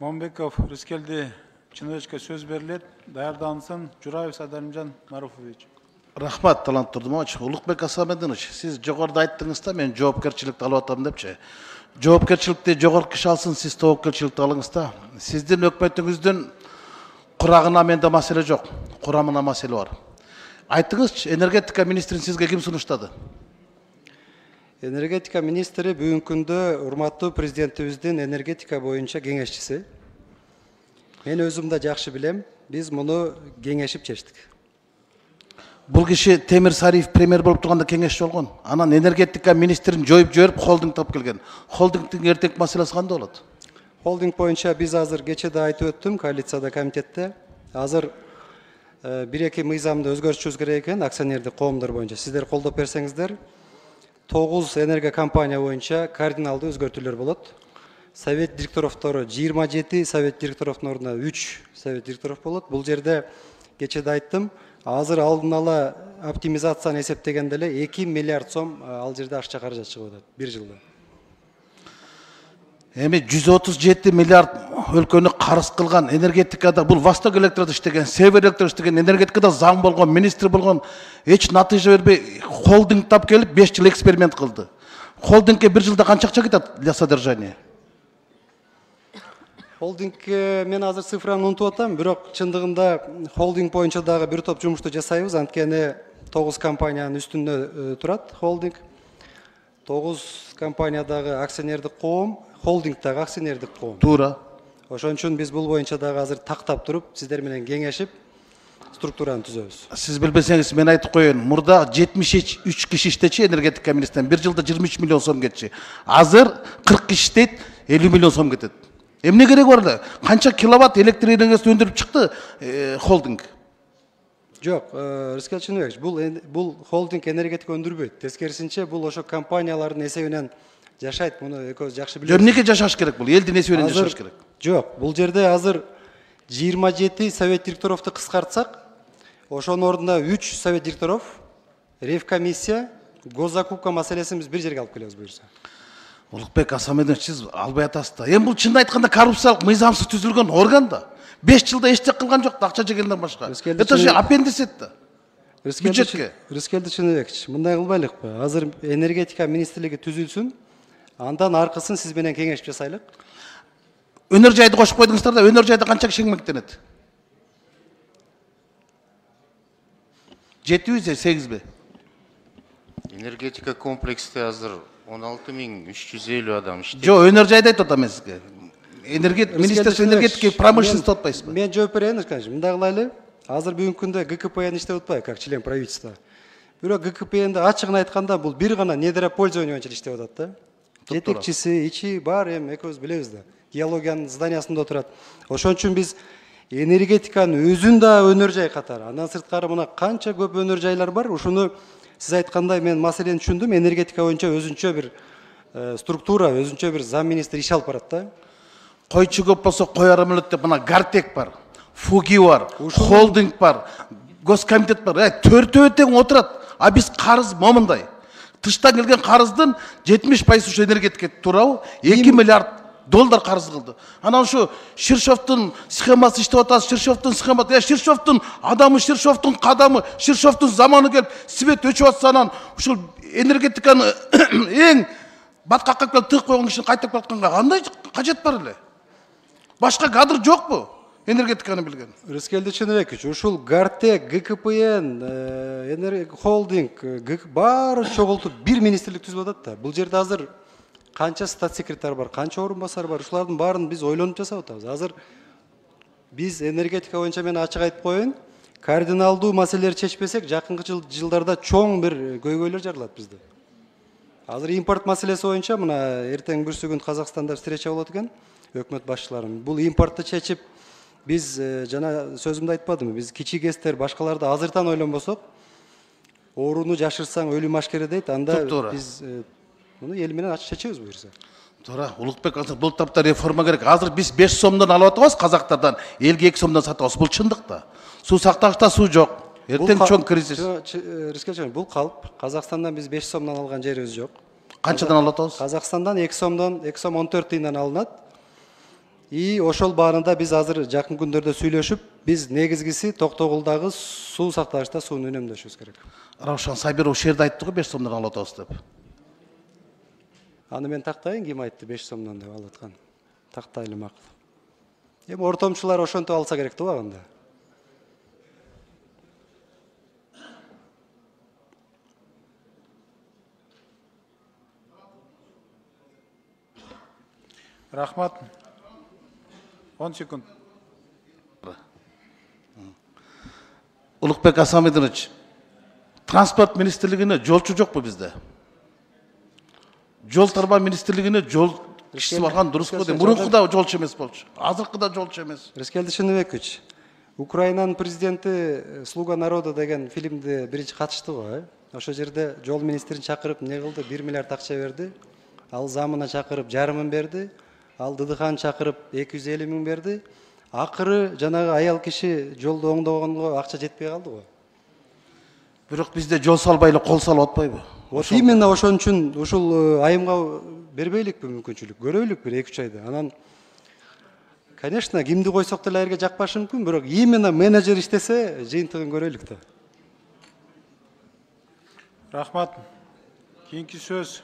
Момбеков Рыскелди Чыныгычка сөз берилет. Даярдансын Жураев Садарымжан Маруфович. Рахмат, Талант Турдумович. Улукбек Асамединович, сиз жогоруда айттыңыз да, мен жоопкерчиликти алып атам депчи. Жоопкерчиликти жогорку киши алсын, сиз тобокелчиликти алыңыз да. Сиздин өкмөтүңүздүн курагына менде маселе жок, курамына маселе бар. Айттыңызчы, энергетика министрин сизге ким сунуштады? Энергетика министри бүгүнкү күндө урматтуу президентибиздин энергетика боюнча кеңешчиси. Мен өзүм да жакшы билем, биз муну кеңешип чечтик. Бул киши Темир Сариев премьер болуп турганда кеңешчи болгон. Анан энергетика министрин жоюп жиберип, холдинг таап келген. Холдингдин эртеңки маселеси кандай болот? Холдинг боюнча биз азыр кечээ да айтып өттүм, коалицияда, комитетте. Азыр бир-эки мыйзамды өзгөртүшүбүз керек экен, акционердик коомдор боюнча. Сиздер колдоп берсеңиздер, 9 энергокомпания боюнча кардиналдуу өзгөртүүлөр болот. Совет директоровтору 27, совет директоровдун ордуна 3 совет директоров болот. Бул жерде кечээ да айттым, азыр алдын ала оптимизацияны эсептегенде эле 2 миллиард сом ал жерде акча каражат чыгып атат бир жылда. Эми 137 миллиард өлкөнү карыз кылган энергетикада, бул Восток Электрода иштеген, Север Электрода иштеген, энергетикада заң болгон, министр болгон, эч натыйжа бербей холдинг тап келип 5 жыл эксперимент кылды. Холдингке бир жылда канча акча кетет для содержания? Холдингке мен азыр цифраны унутуп атам, бирок чындыгында холдинг боюнча дагы бир топ жумушту жасайбыз, анткени 9 компаниянын үстүндө турат холдинг. 9 компаниядагы акционердик коом, холдингдагы акционердик коом. Туура. Ошон үчүн биз бул боюнча дагы азыр тактап туруп, сиздер менен кеңешип, структураны түзөбүз. Сиз билбесеңиз мен айтып коеюн. Мурда 73 киши иштечи энергетика министринен, бир жылда 23 миллион сом кетчи. Азыр 40 киши иштейт, 50 миллион сом кетет. Эмне керек бар эле? Канча киловатт электр энергиясын өндүрүп чыкты холдинг? Жок, Рыскел Чыныбекович, бул холдинг энергетика өндүрбөйт. Тескерисинче, бул ошо компаниялардын эсебинен жашайт. Муну экөөбүз жакшы билебиз. Эмнеге жашаш керек бул? Элдин эсебинен жашаш керек. Жок, бул жерде азыр 27 совет директоровду кыскартсак, ошонун ордуна 3 совет директоров, ревкомиссия, госзакупка маселесин биз бир жерге алып келебиз буюрса. Улукбек Асамединович, сиз албай атасыз да. Эми бул чынын айтканда коррупциялык мыйзамсыз түзүлгөн орган да. 5 жылда эчтек кылган жок, акча жегенден башка. Это же аппендицит да. Бюджетке. Рыскелди Чыныбекович, мындай кылбайлыкпы? Азыр энергетика министрлиги түзүлсүн, андан аркысын сиз менен кеңешип жасайлык. Өнөр жайды кошуп койдуңуздар да, өнөр жайда канча киши эмгектенет? 7 же 8 Энергетика комплексте азыр 16350 адам иштейт. Жо, өнөр жайды айтып атам мен сизге. Министерство энергетики и промышленности атпайсызбы? Мен жооп берейин, мындай кылайлы. Азыр бүгүнкү күндө ГКПН иштеп атпайбы, как член правительства. Бирок ГКПНде ачыгын айтканда бул бир гана недропользование боюнча иштеп атат да. Жетекчиси, ичи бар, эми экөөбүз билебиз да. Геологиянын зданиясында отурат. Ошон үчүн биз энергетиканын өзүн да өнөр жай катары, андан сырткары мына канча көп өнөр жайлар бар. Ушуну сиз айткандай мен маселени түшүндүм. Энергетика боюнча өзүнчө бир структура, өзүнчө бир зам министр иш алып барат да. Койчу көп болсо коярым эле деп, мына Гартек бар, Фуги бар, холдинг бар, госкомитет бар. Төртөө тең отурат. А биз карыз момундай. Тыштан келген карыздын 70% ушу энергетикке туурабы? 2 миллиард доллар карыз кылды. Анан ушу Ширшовдун схемасы иштеп атат, Ширшовдун схемасы, Ширшовдун адамы, Ширшовдун кадамы, Ширшовдун заманы келип, свет өчүп атса, анан ушул энергетиканы эң баткакка келип тыгып койгон кишини кайтып атканга кандай кажет бар эле? Башка кадр жокпу? Энергетиканы билген. Рыскелди Чыныбекович, ушул Гартек, ГКПН, холдинг, баары чогултуп бир министрлик түзүп атат да. Бул жерде азыр канча статс-секретарь бар, канча орун басар бар, ушулардын баарын биз ойлонуп жасап атабыз. Азыр биз энергетика боюнча мен ачык айтып коеюн, кардиналдуу маселелерди чечпесек, жакынкы жылдарда чоң бир көйгөйлөр жаралат бизде. Азыр импорт маселеси боюнча мына эртең бүрсүгүн Казакстанда встреча болот экен, өкмөт башчыларынын. Бул импортты чечип, биз жана сөзүмдү айтпадымбы, биз кичи кестер башкаларды азыртан ойлонбосок, ооруну жашырсаң өлүм ашкере дейт, анда биз муну эл менен ачык чечебиз буюрса. Туура, Улукбек, бул тапта реформа керек. Азыр биз 5 сомдон алып атабыз казактардан, элге 2 сомдон сатабыз. Бул чындык да. Суу сактагычта суу жок. Эртең чоң кризис. Рыскелди, бул калп. Казакстандан биз 5 сомдон алган жерибиз жок. Канчадан алып атабыз? Казакстандан 2 сомдон 2 сом 14 тыйындан алынат. И ошол баанында биз азыр жакын күндөрдө сүйлөшүп, биз негизгиси Токтогулдагы суу сактагычта сууну үнөмдөшүбүз керек. Раушан Сайбиров шерде айтты го 5 сомдон алып атабыз деп. Аны мен тактайын, ким айтты 5 сомдон деп алып аткан. Тактайлы макул. Эми ортомчулар ошентип алса керек да анда. Рахмат. 10 секунд. Улукбек Асамидович, транспорт министрлигине жолчу жокпу бизде? Жол тарба министрлигине жол кишиси барган дуруску дейм. Мурунку да жолчу эмес болчу. Азыркы да жолчу эмес. Рыскелди Шыныбекович, Украинанын президенти «Слуга народа» деген фильмде биринчи катышты го. Ошол жерде жол министрин чакырып не кылды, 1 миллиард акча берди. Ал замына чакырып 1,5 миң берди. Ал Дыдыхан чакырып 250 миң берди. Акыры жанагы аял киши жолду оңдогонго акча жетпей калды го. Бирок бизде жол салбай эле кол салып атпайбы? Вот именно ошон үчүн ушул айымга бербейликпи мүмкүнчүлүк, көрөйлүк бир 2-3 айда. Анан конечно, кимди койсок деле айырга жакпашы мүмкүн, бирок именно менеджер иштесе жыйынтыгын көрөйлүк да. Рахмат. Кийинки сөз